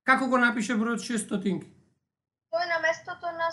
Како го напише бројот 600? Тоа е на местото на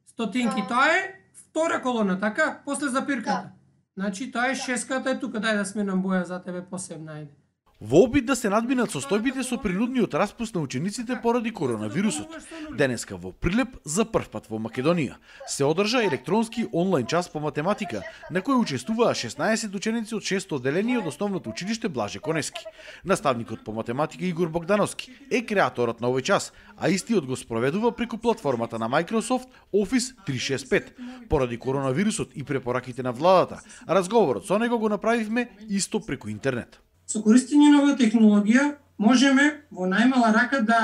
стотинки, тоа е втора колона, така? После запирката. Значи, тоа е шеската е тука, дај да сменам боја за тебе посебна, ајде. Во обид да се надминат состојбите со принудниот распуст на учениците поради коронавирусот, денеска во Прилеп за прв пат во Македонија се одржа електронски онлайн час по математика, на кој учествуваа 16 ученици од 6 одделение од основното училиште Блаже Конески. Наставникот по математика Игор Богдановски е креаторот на овој час, а истиот го спроведува преку платформата на Microsoft Office 365. Поради коронавирусот и препораките на владата, разговорот со него го направивме исто преку интернет. Со користење на оваа технологија можеме во најмала рака да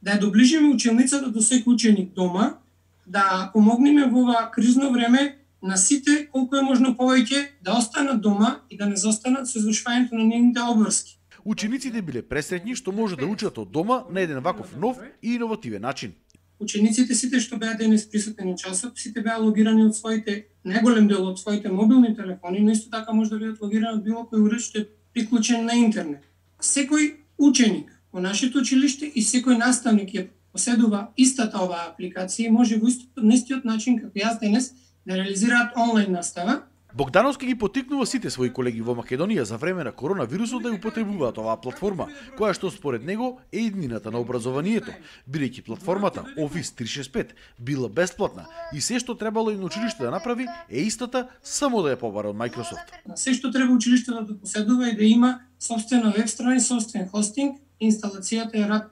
ја доближиме ученицата до секој ученик дома, да помогнеме во ова кризно време на сите колку е можно повеќе да останат дома и да не заостанат со извршувањето на нивните обврски. Учениците биле пресретни што може да учат од дома на еден ваков нов и иновативен начин. Учениците сите што беа денес присутни на часот, сите беа логирани од своите, најголем дел од своите мобилни телефони, но исто така може да бидат логирани од било кој уред што е приклучен на интернет. Секој ученик во нашето училиште и секој наставник ја поседува истата оваа апликација и може во истиот начин како јас денес да реализираат онлайн настава. Богдановски ги поттикнува сите своји колеги во Македонија за време на коронавирусот да ја употребуваат оваа платформа, која што според него е иднината на образованието, бидејќи платформата Office 365 била бесплатна и се што требало и на училиште да направи е истата, само да ја побара од Microsoft. Се што треба училиштето да поседува е да има собствена веб страница, собствен хостинг, инсталацијата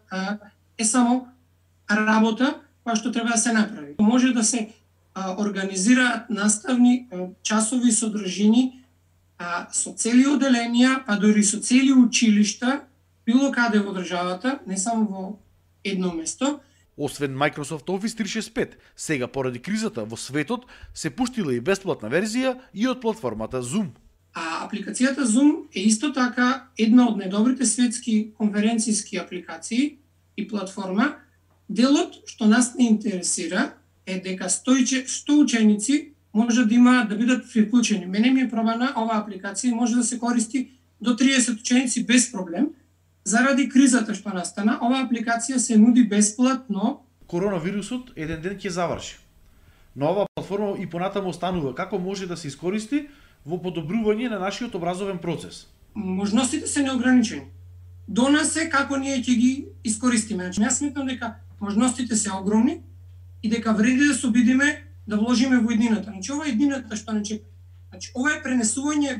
е само работа која што треба да се направи. Може да се организираат наставни часови содржини со цели одделенија, па дури со цели училишта, било каде во државата, не само во едно место. Освен Microsoft Office 365, сега поради кризата во светот се пуштила и бесплатна верзија и од платформата Zoom. А апликацијата Zoom е исто така една од најдобрите светски конференцијски апликации и платформа. Делот што нас не интересира е дека 100 ученици може да имаат да бидат приклучени. Мене ми е пробана оваа апликација може да се користи до 30 ученици без проблем. Заради кризата што настана, оваа апликација се нуди бесплатно. Коронавирусот еден ден ќе заврши. Но оваа платформа и понатаму останува како може да се искористи во подобрување на нашиот образовен процес. Можностите се неограничени. До нас е како ние ќе ги искористиме. Значи, јас сметам дека можностите се огромни и дека вреди да се обидиме да вложиме во еднината. Значи, ова е еднината што не чека. Значи, ова е пренесување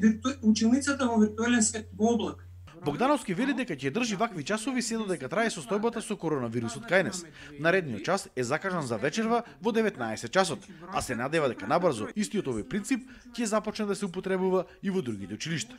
училницата во виртуелен свет, во облак. Богдановски вели дека ќе држи вакви часови се додека трае состојбата со коронавирусот кај нас. Наредниот час е закажан за вечерва во 19 часот, а се надева дека набрзо истиот овој принцип ќе започне да се употребува и во другите училишта.